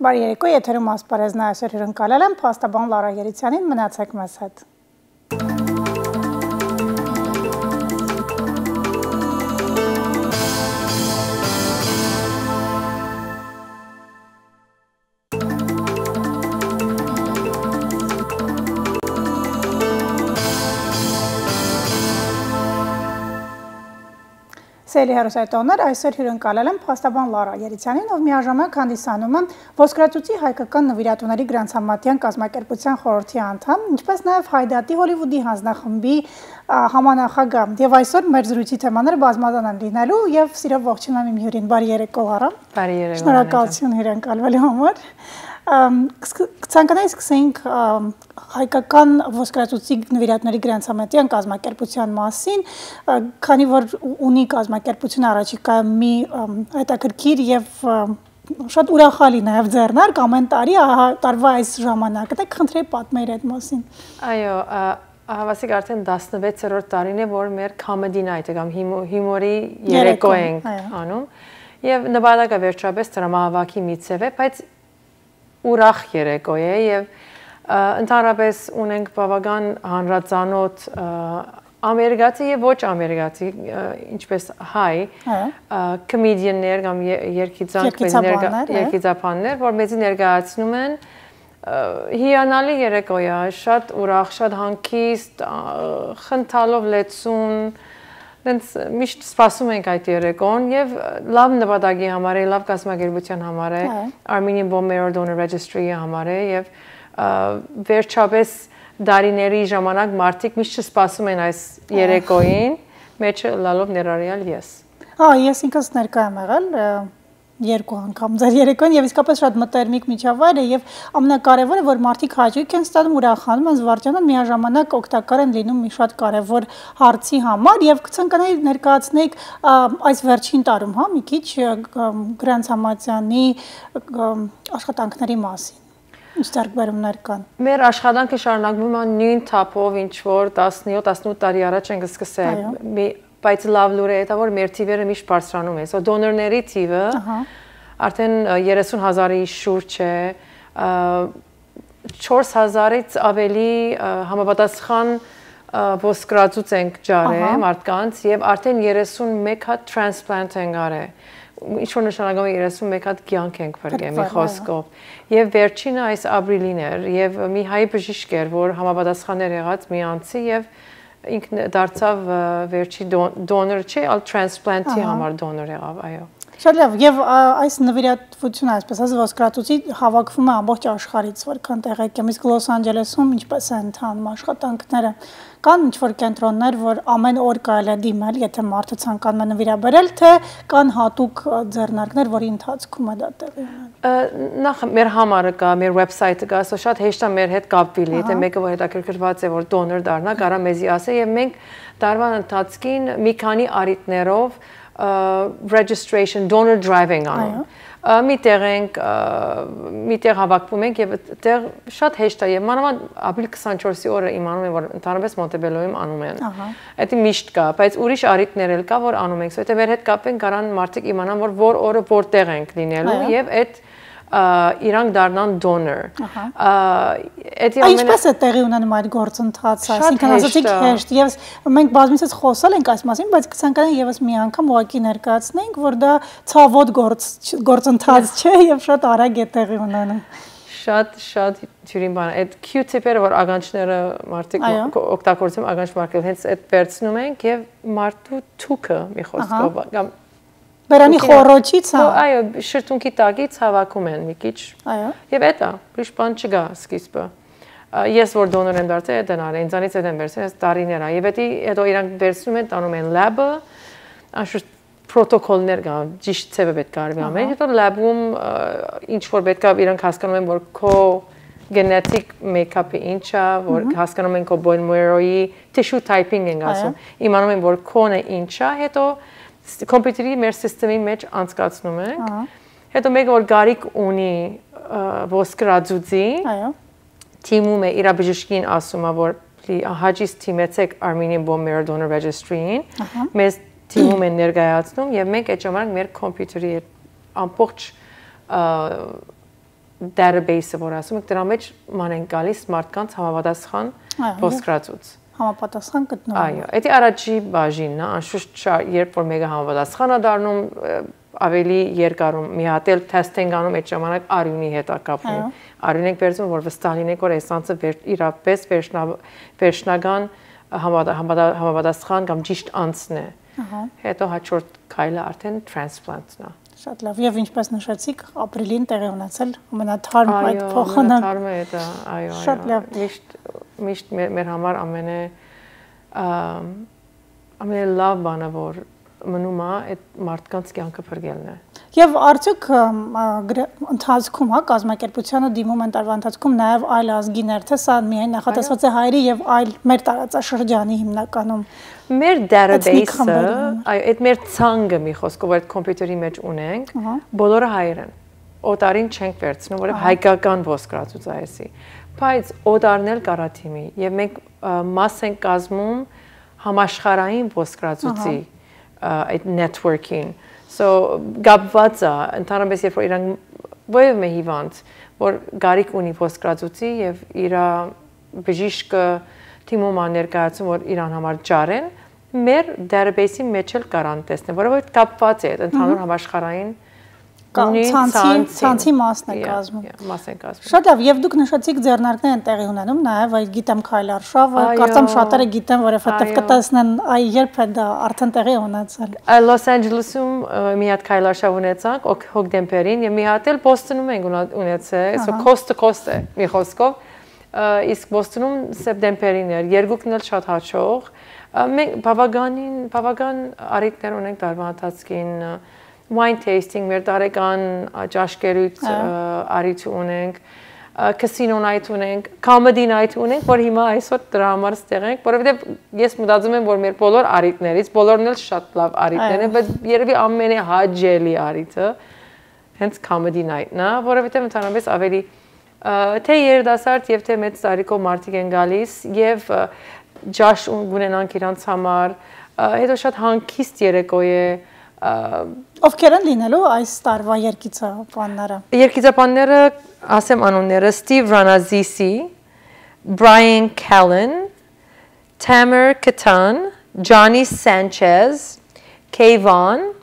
Բարի երեկո, եթերում ասպարեզն այսօր հյուրընկալել եմ փաստաբան Լարա Երիցյանին, մնացեք մեզ հետ։ Սիրելի հեռուստատիտողներ, այսօր հյուրընկալել եմ փաստաբան Լարա Երիցյանին, ով միաժամանակ հանդիսանում է Ոսկրածուծի հայկական նվիրատուների գրանցամատյան կազմակերպության խորհրդի անդամ, ինչպես նաև Հայդատի Հոլիվուդի հանձնախմբի համանախագահ։ Եվ այսօր մեր զրույցի թեմաները բազմազան են լինելու եւ սիրով ողջունում եմ իմ հյուրին։ Բարի երեկո, Լարա։ Բարի երեկո։ Շնորհակալություն հյուրընկալվելու համար։ Ցանկացած սկսենք հայկական ոսկրածուծի նվիրատուների գրանցամատյան կազմակերպության մասին, քանի որ ունի կազմակերպությունը առաջիկայում մի հետաքրքիր եւ շատ ուրախալի նաեւ ձեռնարկ ամեն տարի տարվա այս ժամանակը, դե խնդրեի պատմեի այդ մասին։ Այո, հավասիկ արդեն 16-րդ տարին է, որ մեր comedy night-ը կամ հյումորի երեկո ենք անում, եւ նպատակը վերջապես դրամահավաքի միջև է, բայց ուրախ երեկո է եւ ընդհանրապես ունենք բավական հանրածանոթ ամերիկացի եւ ոչ ամերիկացի ինչպես հայ կոմեդիաններ կամ երգիծապաններ, որ մեզի ներկայացնում են հիանալի երեկո է, շատ ուրախ, շատ հանգիստ, խնդալով լեցուն, միշտ սպասում ենք այդ երեկոն եւ լավ նպատակի համար է, լավ կազմակերպության համար է, Armenian Bone Marrow Donor Registry-ի համար է եւ վերջապես դարիների ժամանակ մարդիկ միշտ սպասում են այս երեկոյին, մեջը լալով ներառյալ ես։ Ես ինքս ներկա եմ եղել երկու անգամ ձեր երեկոյին եւ իսկապես շատ մտերմիկ միջավայր է եւ ամենակարևորը որ մարդիկ հաճույք են ստանում, ուրախանում են, զվարճանում, միաժամանակ օգտակար են լինում մի շատ կարևոր հարցի համար եւ կցանկանայի ներկայացնեիք այս վերջին տարում, հա, մի քիչ գրանցամատյանի աշխատանքների մասին։ Ինչ ձեռքբերումներ կան։ Մեր աշխատանքը շարունակվում է նույն թափով, ինչ որ 17-18 տարի առաջ ենք սկսել։ Բայց լավ լուրը է, որ մեր թիվերը միշտ բարձրանում է։ So դոնորների թիվը արդեն 30,000-ի շուրջ է, 4,000-ից ավելի համապատասխան ոսկրածուծ ենք ջարել մարդկանց եւ արդեն 31 հատ transplant ենք արել։ Ինչ-որ նշանակում է 31 հատ կյանք ենք բերել մի խոսքով։ Եւ վերջինը այս ապրիլին էր եւ մի հայ բժիշկ էր, որ համապատասխան էր եղած մի անձի եւ ինքն դարձավ վերջի դոնոր չէ, այլ transplant-ի համար դոնոր եղավ, այո։ Շատ լավ, եւ այս նվիրատվությունը, այսպես ասած, ոսկրածուծի հավաքվում է ամբողջ աշխարհից, որքան տեղեկ եմ, իսկ Լոս Անջելեսում ինչպես է ընթանում աշխատանքները։ Կան ինչ-որ կենտրոններ, որ ամեն օր կարելի է դիմել, եթե մարդը ցանկանում է նվիրաբերել, թե կան հատուկ ձեռնարկներ, որի ընթացքում է դա տեղի ունենում։ Նախ մեր համարը կա, մեր վեբսայթը կա, շատ հեշտ է մեր հետ կապվել, եթե մեկը որ հետաքրքրված է, որ դոնոր դառնա, կարա մեզի ասի եւ մենք տարվա ընթացքին մի քանի առիթներով registration, donor driving անում։ Միտեղ հավաքվում ենք եւ այդտեղ շատ հեշտ է եւ մանավանդ ապրիլ 24-ի օրը իմանում եմ որ ընդհանրապես Մոնտեբելոյում անում են։ Դա միշտ կա, բայց ուրիշ առիթներ էլ կա որ անում ենք։ Սա եթե մեր հետ կապեն կարան մարդիկ իմանան որ օրը որտեղ ենք լինելու եւ այդ իրանք դառնան donor։ Ինչպես է տեղի ունենում այդ գործընթացը, այսինքն ասացիք հեշտ եւ մենք բազմիցս խոսել ենք այս մասին, բայց կցանկանայի եւս մի անգամ ուղղակի ներկայացնենք, որ դա ցավոտ գործընթաց չէ եւ շատ արագ է տեղի ունենում։ Շատ ջուրին բան, այդ Q-tip-երը որ ագանչները մարդիկ օգտագործում ագանչ մարկել, հենց այդ վերցնում ենք եւ մարդու թուքը մի խոսքով կամ Բերանի խորոչից, հա։ Այո, շրթունքի տակից հավաքում են մի քիչ։ Այո։ Եվ դա, ուրիշ բան չկա սկիզբը։ Ես որ դոնոր եմ դարձել, դա նարը, ինձանից եմ վերցել, այս տարիներ է։ Եվ հետո իրանք վերցնում են, տանում են lab-ը, անշուշտ պրոտոկոլներ կա, ճիշտ ցևը պետք է արվի ամեն։ Հետո lab-ում ինչ որ պետք է իրանք հասկանում են, որ քո genetic make-up-ը ինչ է, որ հասկանում են քո bone marrow-ի tissue typing են ասում։ Իմանում են, որ քոնը ինչ է, հետո կոմպյուտերի մեր սիստեմի մեջ անցկացնում ենք։ Հետո մեկը որ գարիկ ունի ոսկրածուծի, թիմում է իր բժշկին ասում է որ հաջից թիմեցեք Armenian Bone Marrow Donor Registry-ին, մեզ թիմում են ներկայացնում եւ մենք այդ ժամանակ մեր կոմպյուտերի ամբողջ database-ը, որ ասում եք, դրա մեջ ման են գալիս մարդկանց համապատասխան ոսկրածուց։ Համապատասխան գտնվում։ Այո, դա առաջի բաժինն է, անշուշտ երբ որ մեկը համապատասխան է դառնում, ավելի երկարում մի հատ էլ թեստ են անում այդ ժամանակ արյունի հետ կապվում։ Արյուն եք վերցնում, որ վստահ լինեք, որ այս անձը իրապես վերջնական համապատասխան կամ ճիշտ անձն է։ Հետո հաջորդ քայլը արդեն transplant-ն է։ Շատ լավ, եւ ինչպես նշեցիք, ապրիլին տեղի ունեցել ամենաթարմ այդ փոխանակ։ Ամենաթարմը է դա, այո, այո։ Շատ լավ։ Միշտ մեր համար ամենալավ բանը, որ մնում է այդ մարդկանց կյանքը փրկելն է։ Եվ արդյոք ընթացքում, կազմակերպությանը դիմում են տարվա ընթացքում նաև այլ ազգիներ, թե սա միայն նախատեսված է հայերի եւ այլ մեր տարածաշրջանի հիմնականում մեր database-ը, այո, այդ մեր ցանկը մի խոսքով այդ կոմպյուտերի մեջ ունենք, բոլորը հայեր են։ Օտարին չենք վերցնում, որովհետեւ հայկական ոսկրածուց է էսի։ Բայց օտարն էլ կարա թիմի եւ մենք մաս ենք կազմում համաշխարհային ոսկրածուցի այդ networking, so գաբված է ընդհանրապես երբ որ իրանք ովև մի հիվանդ որ գարիք ունի ոսկրածուցի եւ իր բժիշկը թիմում ներկայացում որ իրան համար ջարեն մեր database-ի մեջ էլ կարան տեսնել որովհետեւ կապված է ընդհանուր համաշխարհային ցանցի մասն է կազմում։ Շատ լավ, եւ դուք նշեցիք ձեռնարկներ են տեղի ունենում, նաեւ այդ գիտեմ քայլարշավը, կարծեմ շատերը գիտեն, որովհետեւ կտեսնեն այ երբ է դա արդեն տեղի ունեցել։ Լոս Անջելեսում մի հատ քայլարշավ ունեցանք հոկտեմբերին եւ մի հատ էլ Բոստոնում ենք ունեցել, so coast to coast է մի խոսքով, իսկ Բոստոնում սեպտեմբերին էր, երկուքն էլ շատ հաջող։ Մենք բավական արիտներ ունենք տարվա ընթացքին wine tasting, մեր տարեկան ճաշկերույթ արիթ ունենք, casino night ունենք, comedy night ունենք, որ հիմա այսօր դրա համար ստեղ ենք, որովհետև ես մտածում եմ, որ մեր բոլոր արիթներից, բոլորն էլ շատ լավ արիթներ են, բայց երևի ամենահաճելի արիթը հենց comedy night-ն է, որովհետև ընդհանրապես ավելի թե երիտասարդ եւ թե մեծ տարիքով մարդիկ են գալիս եւ ջաշ ունենանք իրանց համար, հետո շատ հանգիստ երեկո է Ովքեր են լինելու այս տարվա երգիծապանները։ Երգիծապանները, ասեմ անունները, Steve Ranazisi, Brian Callen, Tamer Katan, Johnny Sanchez, Kayvon,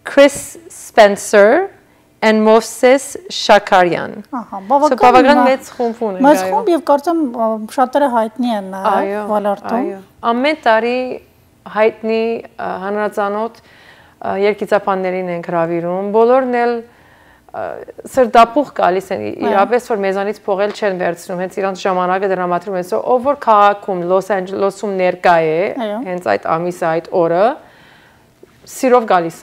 Chris Spencer, and Moses Shakarian. Բավական մեծ խումբ ունենք։ Մեծ խումբ եւ կարծեմ շատերը հայտնի են ոլորտում։ Ամեն տարի հայտնի հանրացանոթ երկիծապաններին են հրավիրում, բոլորն էլ սրտապուխ գալիս են, իրապես որ մեզանից փողել չեն վերցնում, հենց իրանց ժամանակը դրամատրում են, ով որ քաղաքում Լոս Անջելեսում ներկա է, հենց այդ ամիսը, այդ օրը, սիրով գալիս է,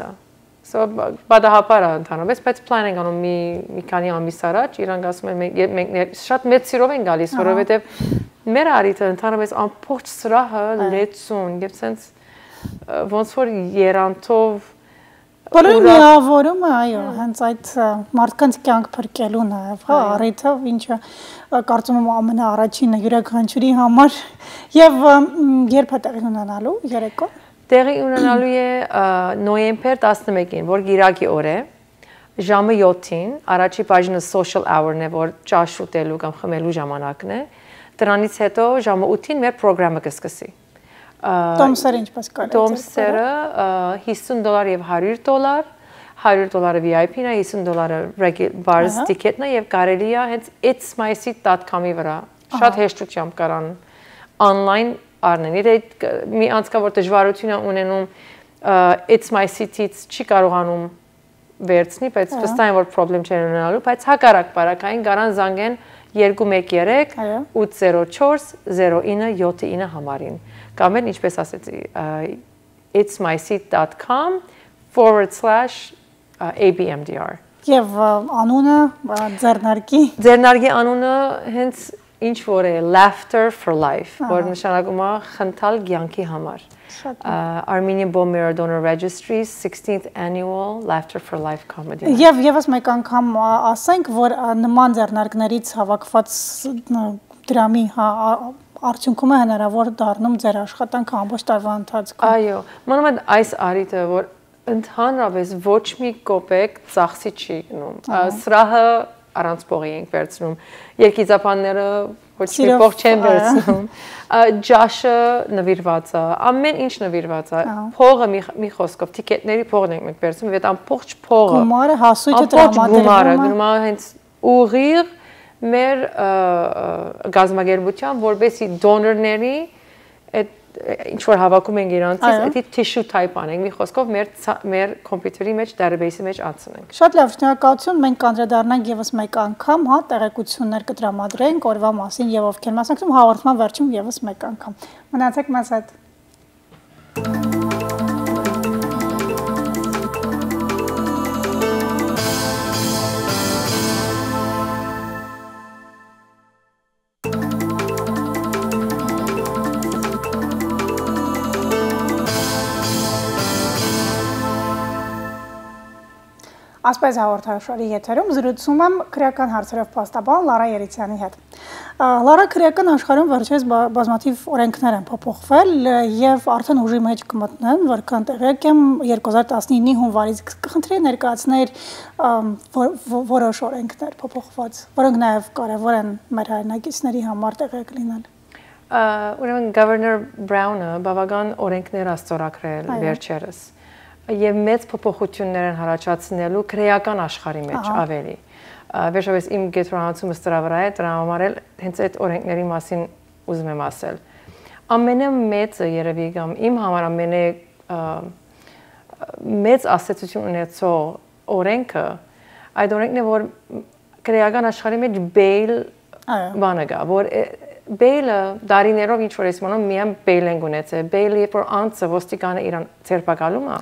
բադահապար է ընդհանրապես, բայց պլան ենք անում մի քանի ամիս առաջ, իրանք ասում են, մենք շատ մեծ սիրով են գալիս, որովհետև մեր արիթը ընդհանրապես ամբողջ սրահը լեցուն, եւ սենց ոնց որ երանտով բոլորի միավորումը, այո, հենց այդ մարդկանց կյանք փրկելու նաև, հա, առիթը, ինչը կարծում եմ ամենաառաջինը յուրաքանչյուրի համար եւ երբ է տեղի ունենալու երեկոն։ Տեղի ունենալու է նոյեմբեր 11-ին, որ գիրակի օր է, ժամը 7-ին, առաջի բաժինը social hour-ն է, որ ճաշ ուտելու կամ խմելու ժամանակն է, դրանից հետո ժամը 8-ին մեր ծրագրը կսկսի։ Տոմսերը ինչպես կարելի է։ Տոմսերը $50 եւ $100, $100 VIP-ն է, $50 bars ticket-ն է եւ կարելի է հենց itsmyseat.com-ի վրա շատ հեշտությամբ կարան online առնեն։ Եթե մի անցկա որ դժվարություն է ունենում itsmyseat-ից չի կարողանում վերցնի, բայց վստահ եմ որ խնդրեմ չեն ունենալու, բայց հակառակ բարակային կարան զանգեն 213 804 0979 համարին։ Կամ էլ ինչպես ասեցի itsmyseat.com/abmdr Եվ անունը ձեռնարկի անունը հենց ինչ որ է laughter for life, որ նշանակում է խնդալ կյանքի համար։ Armenian Bone Marrow Donor Registry's 16th annual Laughter for Life comedy. Եվ եւս մեկ անգամ ասենք, որ նման ձեռնարկներից հավաքված դրամի արդյունքում է հնարավոր դառնում ձեր աշխատանքը ամբողջ տարվա ընթացքում։ Այո, մնում է այս արիթը, որ ընդհանրապես ոչ մի կոպեկ ծախսի չի գնում։ Սրահը առանց փողի ենք վերցնում, երկիծապանները ոչ մի փող չեն վերցնում, ջաշը նվիրված է, ամեն ինչ նվիրված է, փողը մի խոսքով տիկետների փողն ենք մենք վերցնում, այդ ամբողջ փողը, գումարը հասույթը տրամադրվում է, գումարը հենց ուղիղ մեր գազམ་ագերբության, որովհետեւ դոնորների այդ ինչ որ հավաքում ենք իրանցից, դա tissue type անենք, մի խոսքով մեր կոմպյուտերի մեջ, database-ի մեջ անցնենք։ Շատ լավ, շնորհակալություն, մենք կանդրադառնանք եւս մեկ անգամ, հա, տեղեկություններ կտրամադրենք օրվա մասին եւ ովքեր մասնակցում հաղորդման վերջում եւս մեկ անգամ։ Մնացեք մեզ հետ։ Ասպես հաղորդաշարի եթերում զրուցում եմ քրեական հարցերով պաստաբան Լարա Երիցյանի հետ։ Լարա, քրեական աշխարհում վերջերս բազմաթիվ օրենքներ են փոփոխվել եւ արդեն ուժի մեջ կմտնեն, որքան տեղյակ եմ 2019-ի հունվարից կխնդրեի ներկայացնել որոշ օրենքներ փոփոխված, որոնք նաեւ կարեւոր են մեր հայրենակիցների համար տեղյակ լինել։ Ուրեմն Governor Brown-ը բավական օրենքներ աստորագրել վերջերս եւ մեծ փոփոխություններ են առաջացնելու քրեական աշխարհի մեջ ավելի։ Վերջապես իմ գետրոնացումը սրա վրա է, դրա համար էլ հենց այդ օրենքների մասին ուզում եմ ասել։ Ամենամեծը երևի կամ իմ համար ամենամեծ ասացություն ունեցող օրենքը այդ օրենքն է, որ քրեական աշխարհի մեջ bail բանը կա, որ Bail-ը դարիներով ինչ որ էսմանում միայն bail են ունեցել։ Bail-ը երբ որ անձը ոստիկանը իրան ձերբակալում է,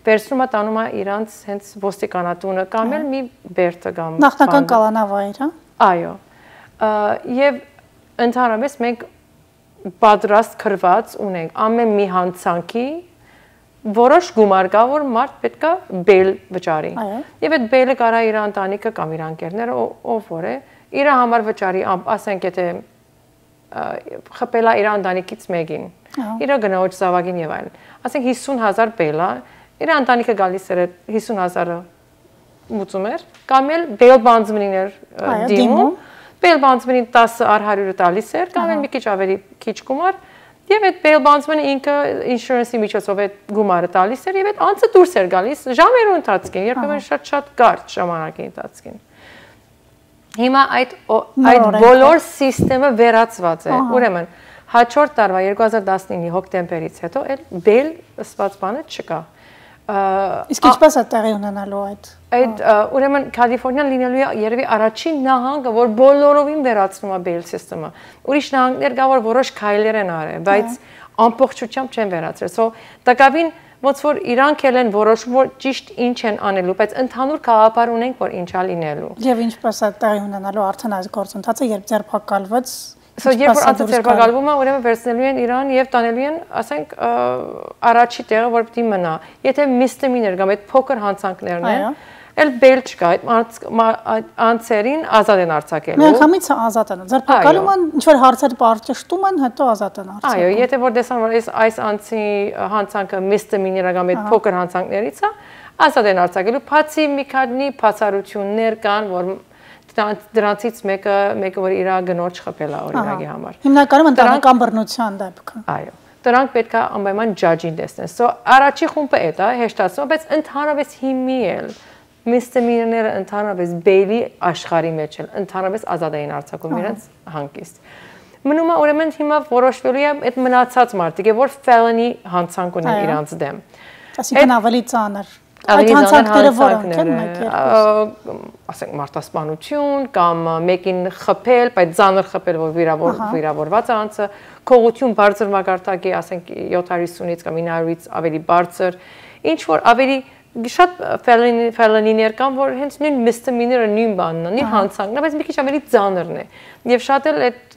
վերցնում է տանում է իրանց հենց ոստիկանատունը կամ էլ մի բերտը կամ նախնական կալանավայր, հա։ Այո։ Եվ ընդհանրապես մենք պատրաստ քրված ունենք ամեն մի հանցանքի որոշ գումար կա, որ մարդ պետք է bail վճարի։ Եվ այդ bail-ը կարա իր ընտանիքը կամ իր ընկերները ով որ է, իր համար վճարի, ասենք եթե խփելա իր ընտանիքից մեկին, իր գնոջ զավակին եւ այլն։ Ասենք 50,000 բելա, իր ընտանիքը գալիս էր 50,000-ը մուծում էր, կամ էլ բել բանձմիններ դիմում, բել բանձմինին 10/100-ը տալիս էր, կամ էլ մի քիչ ավելի քիչ գումար, եւ այդ բել բանձմինը ինքը insurance-ի միջոցով այդ գումարը տալիս էր եւ այդ անձը դուրս էր գալիս ժամերու ընթացքին, երբեմն շատ կարճ ժամանակի ընթացքին։ Հիմա այդ բոլոր համակարգը վերացված է։ Ուրեմն հաջորդ տարվա 2019-ի հոկտեմբերից հետո էլ բել ըսված բանը չկա։ Իսկ ինչպես է տեղի ունենալու այդ։ Այդ ուրեմն Կալիֆոռնիան լինելու է երևի առաջին նահանգը, որ բոլորովին վերացնում է բել համակարգը։ Ուրիշ նահանգներ կա, որ որոշ քայլեր են արել, բայց ամբողջությամբ չեն վերացրել։ So տակավին ոնց որ իրանք էլ են որոշում, որ ճիշտ ինչ են անելու, բայց ընդհանուր գաղափար ունենք, որ ինչա լինելու։ Եվ ինչպես է տեղի ունենալու արդեն այս գործընթացը, երբ ձերբակալված, երբ որ անձը ձերբակալվում է, ուրեմն վերցնելու են իրան եւ տանելու են, ասենք, առաջի տեղը, որ պիտի մնա։ Եթե misdemeanor կամ այդ փոքր հանցանքներն են, էլ բել չկա, այդ անձերին ազատ են արձակելու։ Միանգամից ազատ են։ Ձերբակալում են, ինչ որ հարցեր պատժշտում են, հետո ազատ են արձակում։ Այո, եթե որ տեսան, որ այս անձի հանցանքը misdemeanor կամ այդ փոքր հանցանքներից է, ազատ են արձակելու, բացի մի քանի բացառություններ կան, որ դրանցից մեկը որ իր գնոջ խփել է օրինակի համար։ Հիմնականում ընտանեկան բռնության դեպքը։ Այո։ Դրանք պետք է անպայման judge-ին տեսնեն։ So առաջի խումբը է դա, հեշտացնում, բայց ընդհանրապես հիմի էլ misdemeanor-ները ընդհանրապես bail-ի աշխարհի մեջ են, ընդհանրապես ազատ էին արձակում իրենց հանգիստ։ Մնում է ուրեմն հիմա որոշվելու է այդ մնացած մարդիկ, որ felony հանցանք ունեն իրանց դեմ։ Այսինքն ավելի ծանր։ Այդ հանցանքները որոնք են, ասենք մարտահրավերություն կամ մեկին խփել, բայց ծանր խփել, որ վիրավորված է անձը, քողություն բարձր մակարդակի, ասենք 750-ից կամ 900-ից ավելի բարձր, ինչ որ ավելի շատ felony-ներ կան, որ հենց նույն misdemeanor-ը նույն բանն է, նույն հանցանքն է, բայց մի քիչ ավելի ծանրն է։ Եվ շատ էլ այդ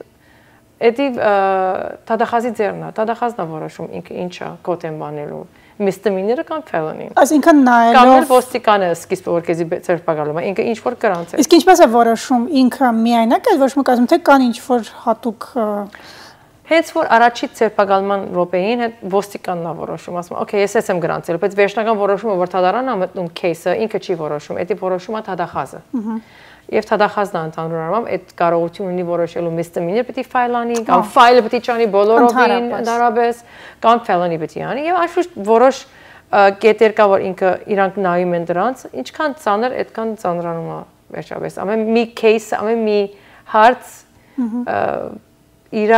տադախազի ձեռն է, տադախազն է որոշում ինքը ինչա կոտ են բանելու, misdemeanor-ը կամ felony-ն։ Այսինքն նայելով կամ էլ ոստիկանը սկիզբը որ քեզի ձերբակալում է, ինքը ինչ որ կրանց է։ Իսկ ինչպես է որոշում ինքը միայնակ է որոշում կազմում, թե կան ինչ որ հատուկ Հենց որ առաջի ձերբակալման րոպեին հետ ոստիկանն է որոշում, ասում, օքեյ, ես եմ գրանցել, բայց վերջնական որոշումը որ թադարանն է մտնում кейսը, ինքը չի որոշում, դա որոշում է թադախազը։ Եվ թադախազն ընդհանուր առմամբ այդ կարողություն ունի որոշելու misdemeanor պիտի ֆայլանի, կամ ֆայլը պիտի չանի բոլորովին ընդհանրապես, կամ felony պիտի անի, եւ անշուշտ որոշ կետեր կա, որ ինքը իրանք նայում են դրանց, ինչքան ծանր, այդքան ծանրանում է վերջապես։ Ամեն մի case, ամեն մի հարց իր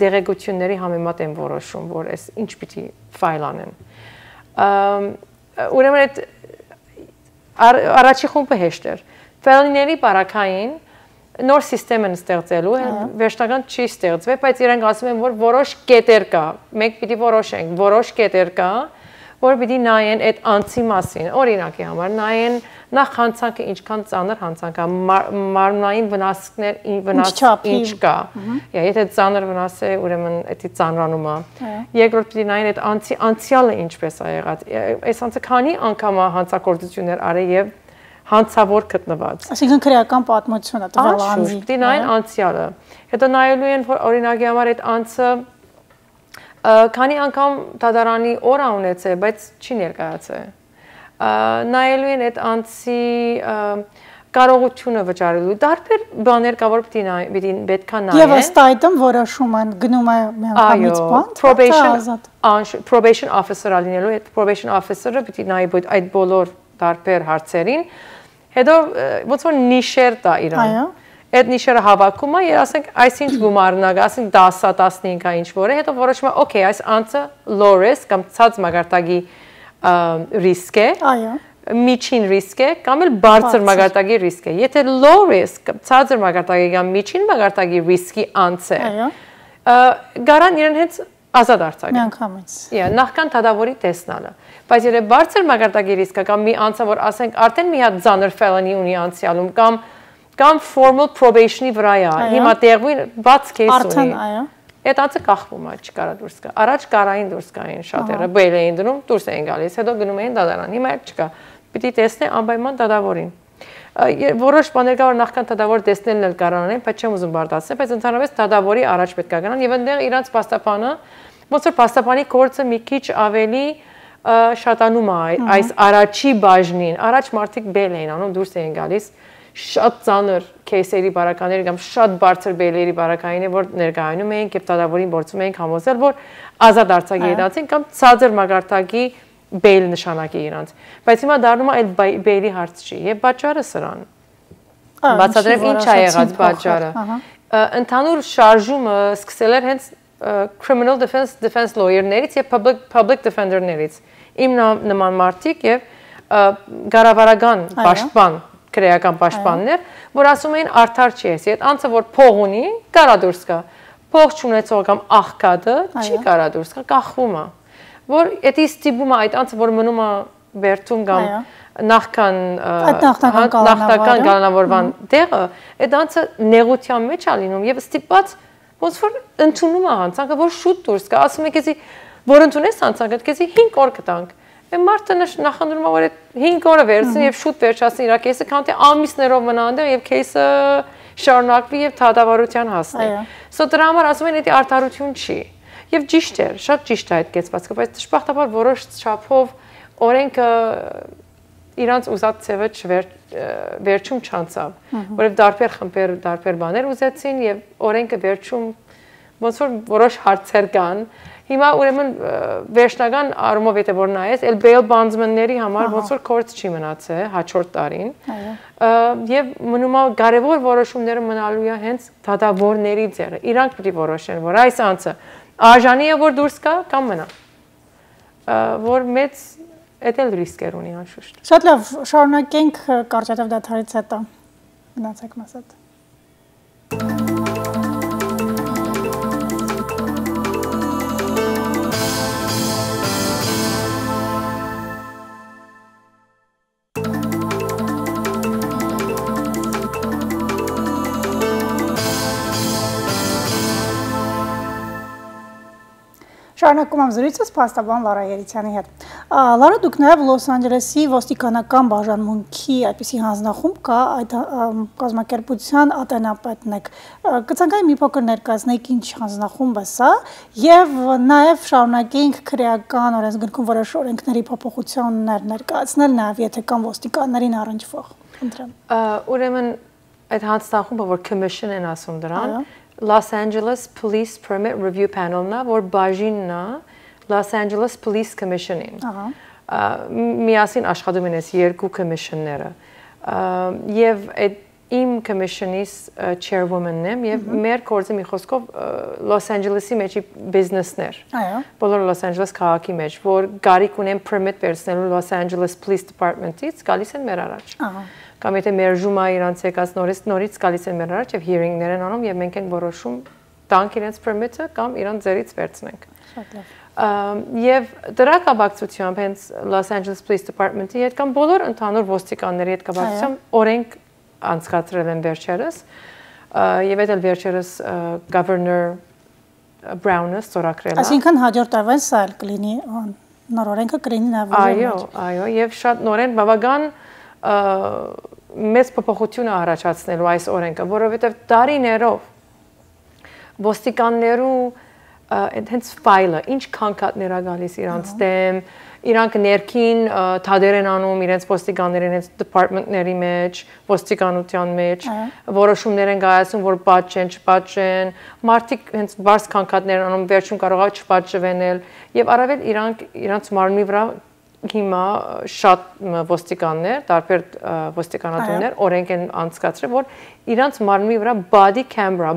դեղեցությունների համեմատ են որոշում, որ այս ինչ պիտի ֆայլ անեն։ Ուրեմն այդ առաջի խումբը հեշտ էր։ Felony-ների բարակային նոր սիստեմ են ստեղծելու, վերջնական չի ստեղծվել, բայց իրենք ասում են, որ որոշ կետեր կա, մենք պիտի որոշենք, որոշ կետեր կա, որ պիտի նայեն այդ անձի մասին, օրինակի համար, նայեն նախ հանցանքը ինչքան ծանր հանցանք է, մարմնային վնասներ ինչ կա, եթե ծանր վնաս է, ուրեմն էդի ծանրանում է, երկրորդ պիտի նայեն այդ անձի անցյալը ինչպես է եղած, այս անձը քանի անգամ է հանցագործություններ արել եւ հանցավոր գտնված։ Այսինքն քրեական պատմությունը տվյալ անձի։ Պիտի նայեն անցյալը։ Հետո նայելու են, որ օրինակի համար այդ անձը քանի անգամ դատարանի օր ունեցել, բայց չի ներկայացել։ Նայելու են այդ անձի կարողությունը վճարելու։ Դարբեր բաներ կա, որ պետք է նայեն։ Եվ ըստ այդմ որոշում են գնում է միանգամից բան։ Probation officer լինելու, այդ probation officer-ը պետք է նայի այդ բոլոր դարբեր հարցերին։ Հետո ոնց որ նիշեր տա իրան։ Այդ նիշերը հավաքում է, եւ ասենք այսինչ գումարն է, ասենք 10-15 է ինչ որ է, հետո որոշում է, օքեյ, այս անձը low risk կամ ցած մագարտակի ռիսկ է։ Այո։ Միջին ռիսկ է կամ էլ բարձր մագարտակի ռիսկ է։ Եթե low risk, ցածր մագարտակի կամ միջին մագարտակի ռիսկի անձ է։ Այո։ Գարան իրեն հենց ազատ արձակել։ Միանգամից։ Նախքան դատավորի տեսնալը։ Բայց եթե բարձր մագարտակի ռիսկը կամ մի անձը, որ ասենք արդեն մի հատ ծանր felony ունի անցյալում կամ formal probation-ի վրա է, հիմա տեղույն բաց case ունի։ Այդ անձը կախվում է, չկարա դուրս գա։ Առաջ կարային դուրս գային շատերը, բեյլ էին դնում, դուրս էին գալիս, հետո գնում էին դատարան։ Հիմա այդ չկա։ Պիտի տեսնեն անպայման դատավորին։ Որոշ բաներ կա, որ նախքան դատավոր տեսնելն էլ կարան են, բայց չեմ ուզում բարդացնել, բայց ընդհանրապես դատավորի առաջ պետք է գնան եւ այնտեղ իրանց պաստապանը, ոնց որ պաստապանի կորցը մի քիչ ավելի շատանում է այս առաջի բաժնին։ Առաջ մարդիկ բեյլ էին անում, դուրս էին գալիս շատ ծանր кейսերի բարականների կամ շատ բարձր բեյլերի բարակային է, որ ներկայանում էինք եւ դատավորին փորձում էինք համոզել, որ ազատ արձակի իրացին կամ ցածր մագարտակի բեյլ նշանակի իրանց։ Բայց հիմա դառնում է այդ բեյլի հարց չի եւ պատճառը սրան։ Բացատրեմ ինչ է եղած պատճառը։ Ընդհանուր շարժումը սկսել էր հենց criminal defense lawyer-ներից եւ public defender-ներից։ Իմ նման մարդիկ եւ գարավարական պաշտպան քրեական պաշտպաններ, որ ասում էին արդար չի էսի, այդ անձը որ փող ունի, կարա դուրս գա, փող չունեցող կամ աղքատը չի կարա դուրս գա, կախվում է, որ էդի ստիպում է այդ անձը, որ մնում է բերդում կամ նախնական կանոնավորման տեղը, այդ անձը նեղության մեջ է լինում եւ ստիպված ոնց որ ընդունում է հանցանքը, որ շուտ դուրս գա, ասում է քեզի, որ ընդունես հանցանքը, քեզի 5 օր կտանք։ Մարդը նախընտրում է, որ այդ 5 օրը վերցնի եւ շուտ վերջացնի իր կեսը, քան թե ամիսներով մնա այնտեղ եւ կեսը շարունակվի եւ դատավարության հասնի։ Սա դրա համար ասում են, դա արդարություն չի։ Եվ ճիշտ է, շատ ճիշտ է այդ կեցվածքը, բայց դժբախտաբար որոշ չափով օրենքը իրանց ուզած ցևը վերջում չանցավ, որովհետեւ դարբեր խմբեր, դարբեր բաներ ուզեցին եւ օրենքը վերջում ոնց որ որոշ հարցեր կան։ Հիմա ուրեմն վերջնական առումով եթե որ նայես, էլ bail bondsman-ների համար ոնց որ court չի մնացել հաջորդ տարին։ Եվ մնում է կարևոր որոշումները մնալու է հենց դատավորների ձեռը։ Իրանք պիտի որոշեն, որ այս անձը արժանի է որ դուրս գա կամ մնա։ Որ մեծ էդել ռիսկեր ունի անշուշտ։ Շատ լավ, շարունակենք կարճատև դադարից հետո։ Գնացեք մաս հետ։ Շարունակում եմ զրույցս փաստաբան Լարա Երիցյանի հետ։ Լարա, դուք նաև Լոս Անջելեսի ոստիկանական բաժանմունքի այդպիսի հանձնախումբ կա, այդ կազմակերպության ատենապետն եք։ Կցանկայի մի փոքր ներկայացնեք ինչ հանձնախումբ է սա, եւ նաև շարունակենք քրեական օրենսգրքում որոշ օրենքների փոփոխություններ ներկայացնել, նաև եթե կան ոստիկաններին առնչվող։ Խնդրեմ։ Ուրեմն այդ հանձնախումբը որ commission են ասում դրան, Los Angeles Police Permit Review Panel-ն է, որ բաժինն է Los Angeles Police Commission-ին։ Միասին աշխատում են այս երկու commission-ները։ Եվ այդ իմ commission-ից chairwoman-ն եմ եւ մեր կորձը մի խոսքով Los Angeles-ի մեջի բիզնեսներ։ Բոլոր Los Angeles քաղաքի մեջ, որ գարիք ունեն permit վերցնելու Los Angeles Police Department-ից, գալիս են մեր առաջ։ Կամ եթե մերժում է իրանց եկած նորից գալիս են մեր առաջ եւ hearing-ներ են անում եւ մենք ենք որոշում տանք իրենց permit-ը կամ իրան ձերից վերցնենք։ Շատ լավ։ Եվ դրա կապակցությամբ հենց Los Angeles Police Department-ի հետ կամ բոլոր ընդհանուր ոստիկանների հետ կապակցությամբ օրենք անցկացրել են վերջերս եւ այդ էլ վերջերս Governor Brown-ը ստորագրել է։ Այսինքն հաջորդ տարվա սա էլ կլինի նոր օրենքը կլինի նաեւ։ Այո, եւ շատ նորեն բավական մեծ փոփոխություն է առաջացնելու այս օրենքը, որովհետեւ տարիներով ոստիկաններու հենց ֆայլը, ինչ քանքատներ է գալիս իրանց դեմ, իրանք ներքին թադեր են անում իրենց ոստիկաններին հենց դեպարտմենտների մեջ, ոստիկանության մեջ, որոշումներ են կայացնում, որ պատժեն, չպատժեն, մարդիկ հենց բարձ քանքատներ անում, վերջում կարող է չպատժվենել, եւ առավել իրանց մարմնի վրա հիմա շատ ոստիկաններ, տարբեր ոստիկանատուններ օրենք են անցկացրել, որ իրանց մարմնի վրա body camera,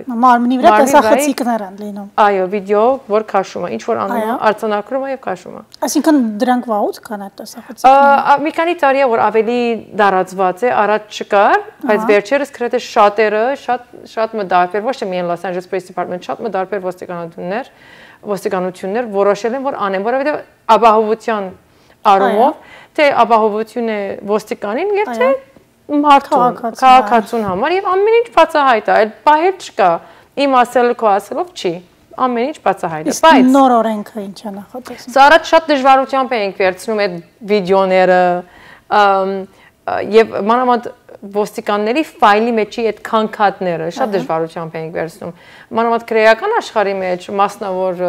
մարմնի վրա տեսախցիկներ են լինում։ Այո, վիդեո, որ քաշում է, ինչ որ անում է, արձանագրում է եւ քաշում է։ Այսինքն դրանք վաղուց կան այդ տեսախցիկները։ Մի քանի տարի է, որ ավելի դարածված է, առաջ չկար, բայց վերջերս գրեթե շատերը, շատ մտարբեր, ոչ թե միայն Los Angeles Police Department, շատ մտարբեր ոստիկանություններ որոշել են, որ անեն, որովհետեւ ապահովության առումով, թե ապահովություն է ոստիկանին եւ թե մարդուն, քաղաքացուն համար եւ ամեն ինչ բացահայտ է, այլ բահեր չկա։ Իմ ասելը քո ասելով չի։ Ամեն ինչ բացահայտ է, բայց նոր օրենքը ինչ է նախատեսում։ Սա առաջ շատ դժվարությամբ էինք վերցնում այդ վիդեոները եւ մանավանդ ոստիկանների ֆայլի մեջի այդ քանքատները շատ դժվարությամբ էինք վերցնում։ Մանավանդ քրեական աշխարհի մեջ մասնավոր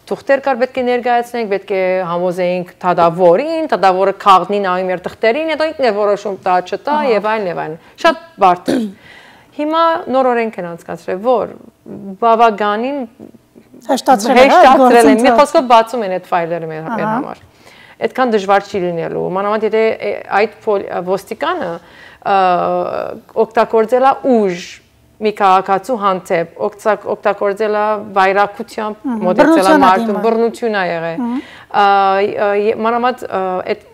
թուղթեր կար, պետք է ներկայացնենք, պետք է համոզեինք դադավորին, դադավորը քաղնի նայում իր թղթերին, հետո ինքն է որոշում տա չտա եւ այլն։ Շատ բարդ էր։ Հիմա նոր օրենք են անցկացրել, որ բավականին հեշտացրել են, մի խոսքով բացում են այդ ֆայլերը մեր համար։ Այդքան դժվար չի լինելու։ Մանավանդ եթե այդ ոստիկանը օգտագործել է ուժ մի քաղաքացու հանդեպ, օգտագործել է վայրակությամբ մոտեցել է մարդուն, բռնություն է եղել։ Մանավանդ այդ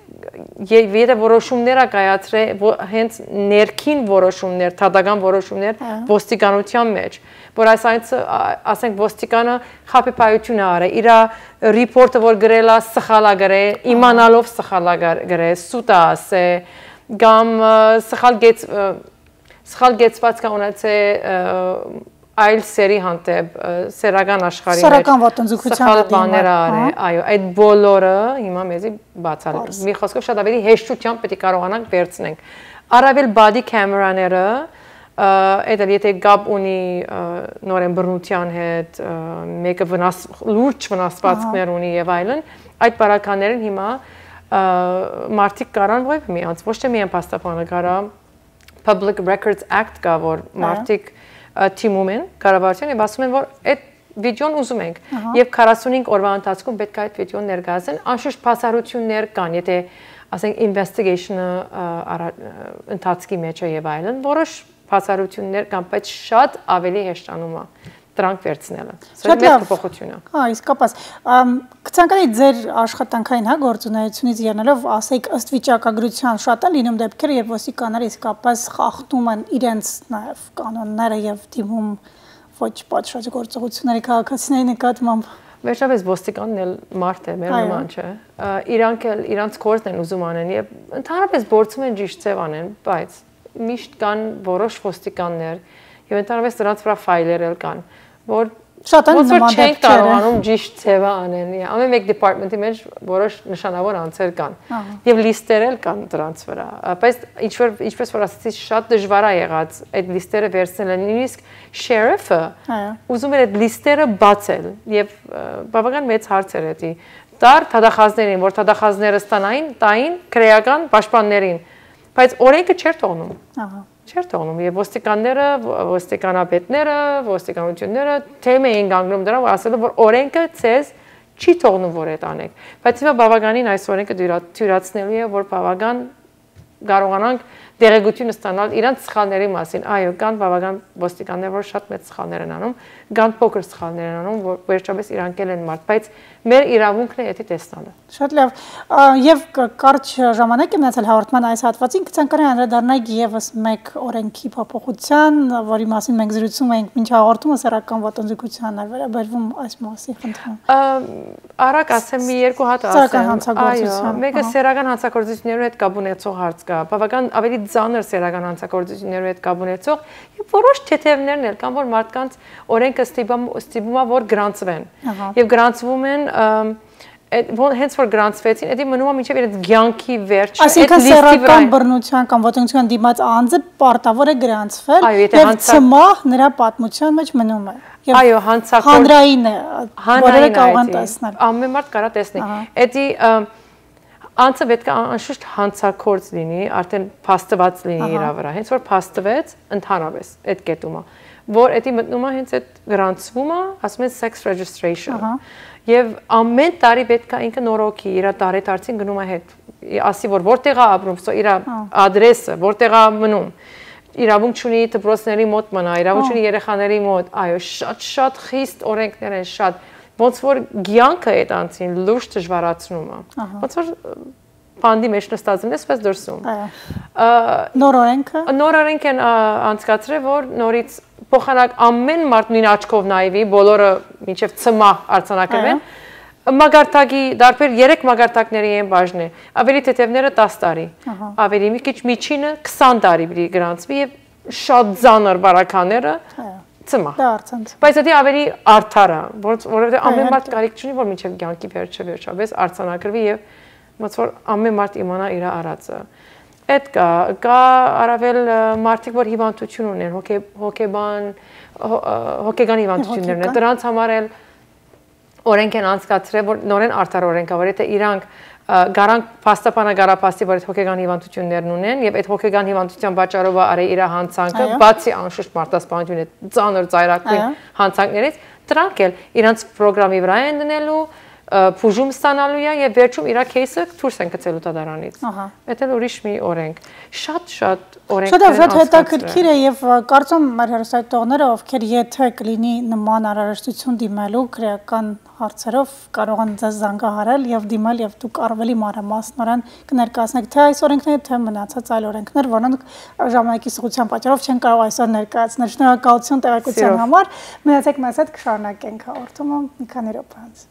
եթե որոշումներ է կայացրել հենց ներքին որոշումներ, թադական որոշումներ ոստիկանության մեջ, որ ասենք ոստիկանը խաբեբայություն է արել, իր ռիպորտը որ գրել է սխալ է գրել, իմանալով սխալ է գրել, սուտ է ասել, կամ սխալ գեցված կա ունեցել այլ սերի հանդեպ սերական աշխարհի մեջ սեռական ոտնձգության բաներ արել, այո, այդ բոլորը հիմա մեզի բացառել։ Մի խոսքով շատ ավելի հեշտությամբ պետք է կարողանանք վերցնենք։ Առավել body camera-ները, այդ եթե գապ ունի նորեն բռնության հետ, մեկը լուրջ վնասվածքներ ունի եւ այլն, այդ բարականներին հիմա մարդիկ կարան ոչ միանց, ոչ թե միայն փաստաբանը կարա Public Records Act կա, որ մարդիկ թիմում են կառավարության եւ ասում են, որ այդ վիդեոն ուզում ենք եւ 45 օրվա ընթացքում պետք է այդ վիդեոն ներկայացեն, անշուշտ փաստարություններ կան, եթե ասենք investigation-ը ընթացքի մեջ է եւ այլն, որոշ փաստարություններ կան, բայց շատ ավելի հեշտանում է դրանք վերցնելը։ Սա մեծ փոփոխություն է։ Հա, իսկապես։ Կցանկանայի ձեր աշխատանքային գործունեությունից ելնելով, ասեք, ըստ վիճակագրության շատ են լինում դեպքեր, երբ ոստիկանները իսկապես խախտում են իրենց նաև կանոնները եւ դիմում ոչ պատշաճ գործողությունների քաղաքացիների նկատմամբ։ Վերջապես ոստիկանն էլ մարդ է, մեր նման չէ։ Իրանք էլ իրանց գործն են ուզում անեն եւ ընդհանրապես փորձում են ճիշտ ձև անեն, բայց միշտ կան որոշ ոստիկաններ եւ ընդհանրապես դրանց վրա ֆայլեր էլ կան, որ շատ են նման դեպքեր կարողանում ճիշտ ձևը անեն։ Ամեն մեկ դեպարտմենտի մեջ որոշ նշանավոր անձեր կան եւ լիստեր էլ կան դրանց վրա։ Բայց ինչպես որ ասացի, շատ դժվար է եղած այդ լիստերը վերցնել, նույնիսկ շերիֆը ուզում էր այդ լիստերը բացել եւ բավական մեծ հարց էր դա։ Դար թադախազներին, որ թադախազները տային քրեական պաշտպաններին, բայց օրենքը չէր թողնում։ Չէր թողնում եւ ոստիկանները, ոստիկանապետները, ոստիկանությունները թեմ էին գանգնում դրա, ասելով որ օրենքը ցեզ չի թողնում որ այդ անեք։ Բայց հիմա բավականին այս օրենքը թյուրացնելու է, որ բավական կարողանանք դերեկություն ստանալ իրանց սխալների մասին։ Այո, կան բավական ոստիկաններ, որ շատ մեծ սխալներ են անում, կան փոքր սխալներ են անում, որ վերջապես իրանք են մարդ, բայց մեր իրավունքն է դա տեսնելը։ Շատ լավ։ Եվ կարճ ժամանակ է մնացել հաղորդման այս հատվածին, կցանկանայի անդրադառնալ եւս մեկ օրենքի փոփոխության, որի մասին մենք զրուցում ենք մինչ հաղորդումը սեռական ոտնձգությանն էր վերաբերվում այս մասի խնդրում։ Արագ ասեմ մի երկու հատ ասեմ։ Այո, մեկը սեռական հանցագործություններով հետ կապ ունեցող հարց կա։ Բավական ավելի ծանր սեռական հանցագործություններով հետ կապ ունեցող եւ որոշ թեթևներն էլ կան, որ մարդկանց օրենքը ստիպում է որ գրանցվեն։ Եվ գրանցվում են հենց որ գրանցվեցին, դա մնում է մինչև իրենց ցանկի վերջը։ Այսինքն սեռական բռնության կամ ոտնձգության դիմաց անձը պարտավոր է գրանցվել եւ ցմահ նրա պատմության մեջ մնում է։ Այո, հանրային է, որը կարող են տեսնել։ Ամեն մարդ կարա տեսնի։ Դա անձը պետք է անշուշտ հանցագործ լինի, արդեն փաստված լինի իր վրա։ Հենց որ փաստվեց, ընդհանրապես այդ կետումը, որ դա մտնում է հենց այդ գրանցումը, ասում են sex registration։ Եվ ամեն տարի պետք է ինքը նորոգի, իր տարեդարձին գնում է հետ, ասի որ որտեղ է ապրում, իր ադրեսը, որտեղ է մնում։ Իրավունք ունի դպրոցների մոտ մնա, իրավունք ունի երեխաների մոտ, այո, շատ խիստ օրենքներ են, շատ ոնց որ ցանկը այդ անձին լուրջ դժվարացնում է։ Ոնց որ բանդի մեջ նստած ես, պես դրսում։ Նոր օրենք են անցկացրել, որ նորից փոխանակ ամեն մարդ նույն աչքով նայվի, բոլորը մինչև ցմահ արձանագրվեն։ Մագարտակի դարբեր 3 մագարտակների են բաժնի, ավելի թեթևները 10 տարի, ավելի մի քիչ միջինը 20 տարի պիտի գրանցվի եւ շատ ծանր բարակաները ցմահ։ Բայց դա ավելի արդար է, որովհետեւ ամեն մարդ կարիք չունի, որ մինչև կյանքի վերջապես արձանագրվի եւ ոնց որ ամեն մարդ իմանա իր արածը։ Այդ կա առավել մարդիկ, որ հիվանդություն ունեն, հոգեբան հիվանդություններն են, դրանց համար էլ օրենք են անցկացրել, որ նորեն արդար օրենք է, որ եթե իրանք գարանք փաստաբանագարապաստի, որ այդ հոգեգան հիվանդություններն ունեն եւ այդ հոգեգան հիվանդության պատճառով արի իր հանցանքը, բացի անշուշտ մարդասպանությունը ծանր ծայրակույն հանցանքներից, դրանք էլ իրանց ծրագրամի վրա են դնելու, փուժում ստանալու է եւ վերջում իր кейսը դուրս են գցելու դատարանից։ Դա էլ ուրիշ մի օրենք։ Շատ օրենքներ են շատ հետաքրքիր է եւ կարծում մեր հեռուստատողները, ովքեր եթե կլինի նման անհրաժեշտություն դիմելու քրեական հարցերով կարող են ձեզ զանգահարել եւ դիմել եւ դուք ավելի մանրամասնորեն կներկայացնեք թե այս օրենքները, թե մնացած այլ օրենքներ, որոնք ժամանակի սղության պատճառով չեն կարող այսօր ներկայացնել։ Շնորհակալություն տեղեկության համար։ Մնացեք մեզ հետ, կշարունակենք հաղորդումը մի քանի րոպե անց։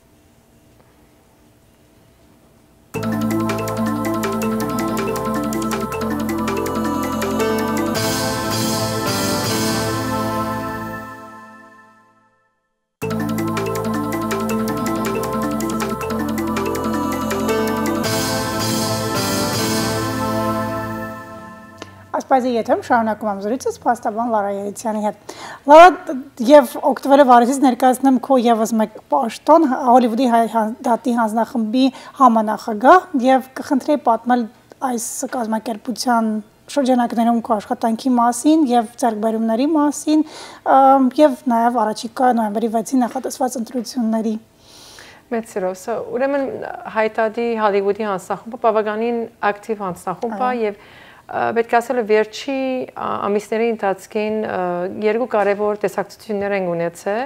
Ասպայզի եթերում շարունակում եմ զրույցս փաստաբան Լարա Երիցյանի հետ։ Լարա, եւ օգտվելով առիթից ներկայացնեմ քո եւս մեկ պաշտոն Հոլիվուդի դատի հանձնախմբի համանախագահ եւ կխնդրեի պատմել այս կազմակերպության շրջանակներում քո աշխատանքի մասին եւ ձեռքբերումների մասին եւ նաեւ առաջիկա նոյեմբերի 6-ին նախատեսված ընտրությունների։ Մեծ սիրով, ուրեմն հայտարարի Հոլիվուդի հանձնախումբը բավականին ակտիվ հանձնախումբ է եւ պետք է ասել վերջի ամիսների ընթացքին երկու կարևոր տեսակցություններ են ունեցել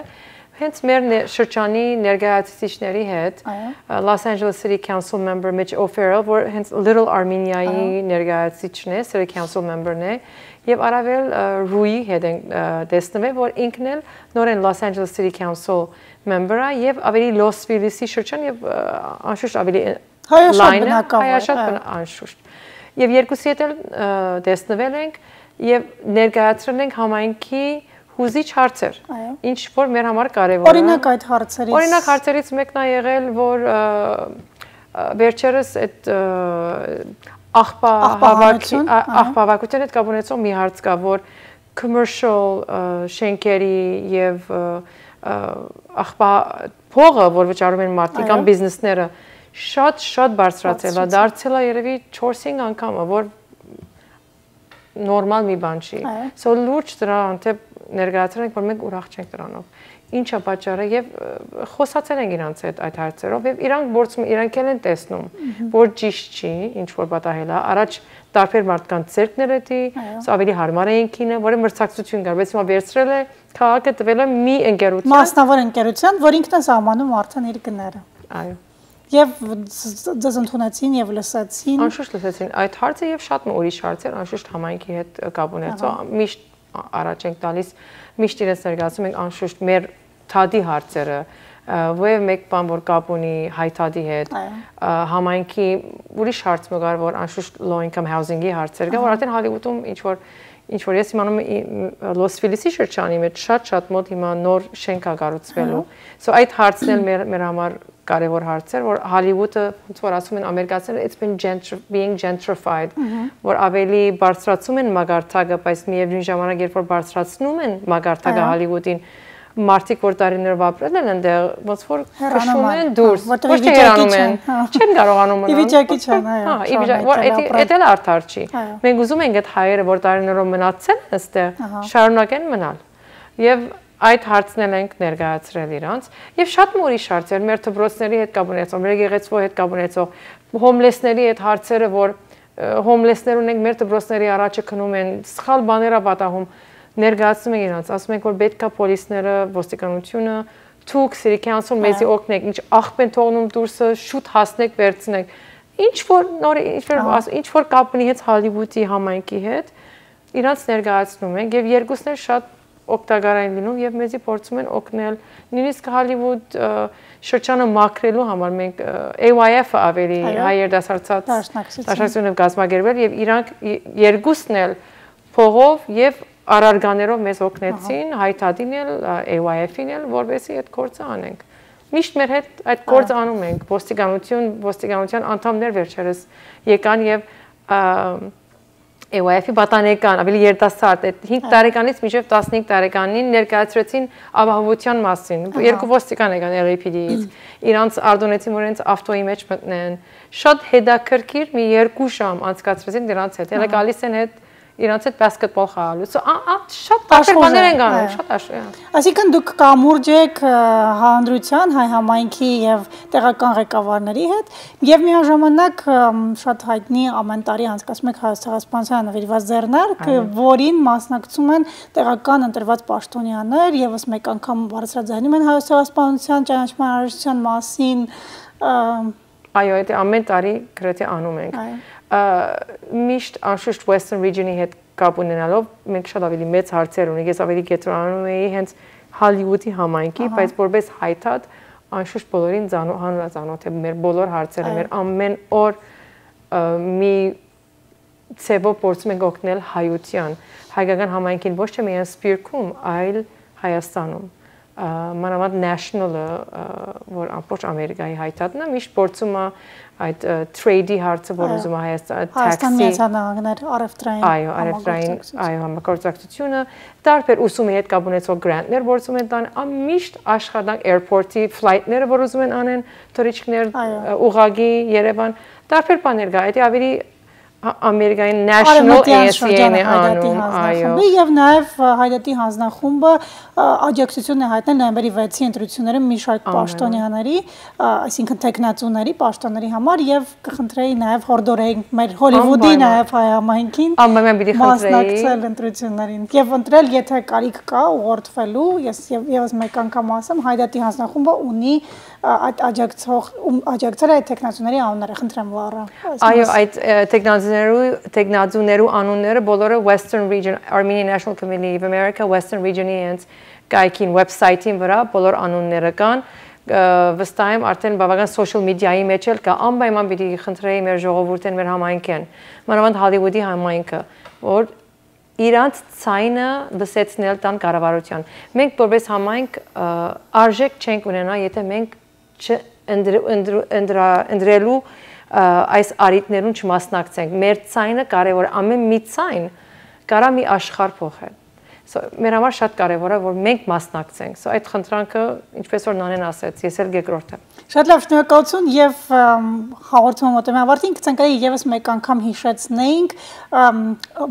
հենց մեր շրջանի ներկայացուցիչների հետ Los Angeles City Council member Mitch O'Farrell, որ հենց Little Armenia-ի ներկայացուցիչն է, City Council member-ն է, եւ առավել Rui հետ են տեսնվել, որ ինքն էլ նորեն Los Angeles City Council member-ը եւ ավելի Los Feliz-ի շրջան եւ անշուշտ ավելի հայաշատ անշուշտ Եվ երկուսի հետ էլ տեսնվել ենք եւ ներկայացրել ենք համայնքի հուզիչ հարցեր, ինչ որ մեր համար կարեւոր է։ Օրինակ այդ հարցերից։ Օրինակ հարցերից մեկն է եղել, որ վերջերս այդ աղբավակության հետ կապ ունեցող մի հարց կա, որ commercial շենքերի եւ փողը, որ վճարում են մարդիկ կամ բիզնեսները շատ բարձրացել է, դարձել է երևի 4-5 անգամ, որ նորմալ մի բան չի։ So լուրջ դրա անտեպ ներկայացրել ենք, որ մենք ուրախ չենք դրանով։ Ինչա պատճառը եւ խոսացել ենք իրանց հետ այդ հարցերով եւ իրանք գործում իրանք են տեսնում, որ ճիշտ չի, ինչ որ պատահել է, առաջ տարբեր մարդկանց ցերկներ էի, ավելի հարմար էին քինը, որը մրցակցություն կար, բայց հիմա վերցրել է քաղաքը տվել է մի ընկերության, մասնավոր ընկերության, որ ինքն է սահմանում արդեն իր գները։ Այո։ Եվ ձեզ ընդունեցին եւ լսեցին։ Անշուշտ լսեցին այդ հարցը եւ շատ ուրիշ հարցեր, անշուշտ համայնքի հետ կապ ունեցող, միշտ առաջ ենք տալիս, միշտ իրենց ներկայացնում ենք անշուշտ մեր թադի հարցերը, որև մեկ բան որ կապ ունի հայտադի հետ, համայնքի ուրիշ հարց մգար, որ անշուշտ low income housing-ի հարցեր կա, որ արդեն Հոլիվուդում ինչ որ ես իմանում եմ Լոս Ֆիլիսի շրջանի մեջ շատ մոտ հիմա նոր շենք է կառուցվելու։ So այդ հարցն էլ մեր համար կարևոր հարցեր, որ Հոլիվուդը ոնց որ ասում են ամերիկացիները it's been being gentrified, որ ավելի բարձրացում են մագարտակը, բայց միևնույն ժամանակ երբ որ բարձրացնում են մագարտակը Հոլիվուդին, մարդիկ որ տարիներով ապրել են այնտեղ ոնց որ քշում են դուրս, ոչ թե հեռանում են, չեն կարողանում մնալ։ Իվիճակի չեն, այո։ Էդ էլ արդար չի։ Մենք ուզում ենք այդ հայերը, որ տարիներով մնացել են այստեղ, շարունակեն մնալ։ Եվ այդ հարցն ենք ներկայացրել իրանց եւ շատ ուրիշ հարցեր մեր դպրոցների հետ կապ ունեցող, մեր եկեղեցու հետ կապ ունեցող, հոմլեսների հետ հարցերը, որ հոմլեսներ ունենք մեր դպրոցների առաջը քնում են, սխալ բաներ ա պատահում, ներկայացնում ենք իրանց, ասում ենք որ պետքա պոլիսները, ոստիկանությունը, թուք City Council մեզի օգնեք, ինչ աղբ են թողնում դուրսը, շուտ հասնեք, վերցնեք։ Ինչ որ կապ ունի հետ Հոլիվուդի համայնքի հետ, իրանց ներկայացնում ենք եւ երկուսն էլ շատ օգտակար են լինում եւ մեզի փորձում են օգնել նույնիսկ Հոլիվուդ շրջանը մաքրելու համար մենք AYF-ը ավելի հայեր դասարցած դաշնակցությունը կազմակերպել եւ իրանք երկուսն էլ փողով եւ արարգաներով մեզ օգնեցին հայտադին էլ AYF-ին էլ որովհետեւ այդ գործը անենք միշտ մեր հետ այդ գործը անում ենք ոստիկանության անդամներ վերջերս եկան եւ AYF-ի պատանեկան, ավելի երիտասարդ, 5 տարեկանից մինչև 15 տարեկանին ներկայացրեցին ապահովության մասին։ Երկու ոստիկան եկան LAPD-ից։ Իրանց արդոնեցին, որ իրենց ավտոյի մեջ մտնեն։ Շատ հետաքրքիր մի 2 ժամ անցկացրեցին դրանց հետ։ Հələ գալիս են հետ իրանց հետ բասկետբոլ խաղալու։ Շատ տարբեր բաներ են գանում, շատ աշուղ է։ Այսինքն դուք կամուրջ եք հանրության, հայ համայնքի եւ տեղական ղեկավարների հետ եւ միաժամանակ շատ հայտնի ամեն տարի անցկացում եք Հայոց ցեղասպանության նվիրված ձեռնարկ, որին մասնակցում են տեղական ընտրված պաշտոնյաներ, եւս մեկ անգամ բարձրաձայնում են Հայոց ցեղասպանության ճանաչման արարողության մասին։ Այո, դա ամեն տարի գրեթե անում ենք։ Միշտ անշուշտ Western Region-ի հետ կապ ունենալով մենք շատ ավելի մեծ հարցեր ունենք, ես ավելի կենտրոնանում էի հենց Հոլիվուդի համայնքի, բայց որպես հայտած անշուշտ բոլորին հանրազանոթ է մեր բոլոր հարցերը, մեր ամեն օր մի ցեվով փորձում ենք օգնել հայության, հայկական համայնքին ոչ թե միայն Սփյուռքում, այլ Հայաստանում։ Մանավանդ national-ը, որ ամբողջ Ամերիկայի հայտարարն է, միշտ փորձում է այդ trade-ի հարցը, որ ուզում է Հայաստան Միացյալ Նահանգներ առևտրային, համագործակցությունը, տարբեր ուսումի հետ կապ ունեցող grant-ներ փորձում են տան, միշտ աշխատանք airport-ի flight-ները, որ ուզում են անեն, թուրիստներ ուղղակի Երևան, տարբեր բաներ կա, դա ավելի Ամերիկայի National ASEAN-ն է անում, այո։ Եվ նաև Հայդատի հանձնախումբը աջակցություն է հայտնել նոյեմբերի 6-ի ընտրությունները մի շարք պաշտոնյաների, այսինքն տեխնացուների, պաշտոնների համար եւ կխնդրեի նաև հորդորենք մեր Հոլիվուդի նաև հայ համայնքին մասնակցել ընտրություններին եւ ընտրել, եթե կարիք կա ուղղորդվելու, ես եւս մեկ անգամ ասեմ, Հայդատի հանձնախումբը ունի այդ աջակցել այդ տեխնացուների անունները, խնդրեմ Լարա։ Այո, այդ տեխնացուներու անունները բոլորը Western Region, Armenian National Committee of America, Western Region-ի հենց կայքին website-ին վրա բոլոր անունները կան, վստահ եմ արդեն բավական social media-ի մեջ էլ կա, անպայման պիտի խնդրեի մեր ժողովուրդին, մեր համայնքին, մանավանդ Հոլիվուդի համայնքը, որ իրանց ցայնը լսեցնել տան կառավարության։ Մենք որպես համայնք արժեք չենք ունենա, եթե մենք ընտրելու այս արիտներուն չմասնակցենք։ Մեր ցայնը կարևոր, ամեն մի ցայն կարա մի աշխարհ փոխել։ Մեր համար շատ կարևոր է, որ մենք մասնակցենք։ Այդ խնդրանքը, ինչպես որ Նանեն ասեց, ես էլ երկրորդ եմ։ Շատ լավ, շնորհակալություն եւ հաղորդումը մոտեմ ավարտին կցանկանայի եւս մեկ անգամ հիշեցնեինք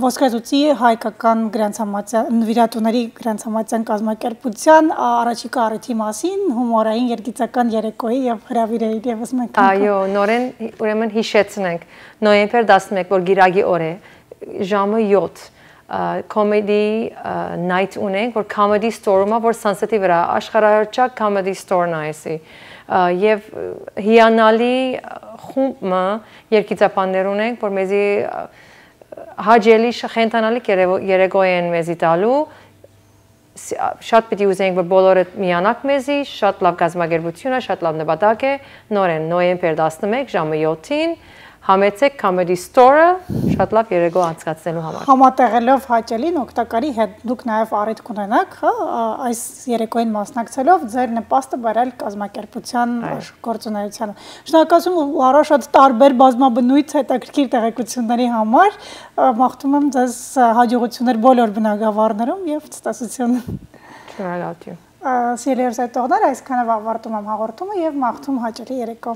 ոսկրազուծի հայկական գրանցամատյան նվիրատուների գրանցամատյան կազմակերպության առաջիկա առիթի մասին հումորային երգիծական երեկոյի եւ հրավիրեի եւս մեկ անգամ։ Այո, նորեն ուրեմն հիշեցնենք նոյեմբեր 11, որ գիրագի օր է, ժամը 7 comedy night ունենք, որ comedy store-ում, որ Sunset-ի վրա աշխարհահռչակ comedy store-ն է էսի։ Եվ հիանալի խումբ երգիծապաններ ունենք, որ մեզի հաջելի խենթանալի երեկո են մեզի տալու, շատ պիտի ուզենք, որ բոլորը միանաք մեզի, շատ լավ կազմակերպություն է, շատ լավ նպատակ է, նորեն նոյեմբեր 11 ժամը 7-ին համեցեք Comedy Store-ը շատ լավ երեկո անցկացնելու համար։ Համատեղելով հաճելին օգտակարի հետ դուք նաև առիթ կունենաք, այս երեկոյին մասնակցելով ձեր նպաստը բերել կազմակերպության գործունեությանը։ Շնորհակալություն Լարա, շատ տարբեր բազմաբնույթ հետաքրքիր տեղեկությունների համար։ Մաղթում եմ ձեզ հաջողություններ բոլոր բնագավառներում եւ ցտեսություն։ Շնորհակալություն։ Սիրելի ուսանողներ, այսքանով ավարտում եմ հաղորդումը եւ մաղթում հաճելի երեկո։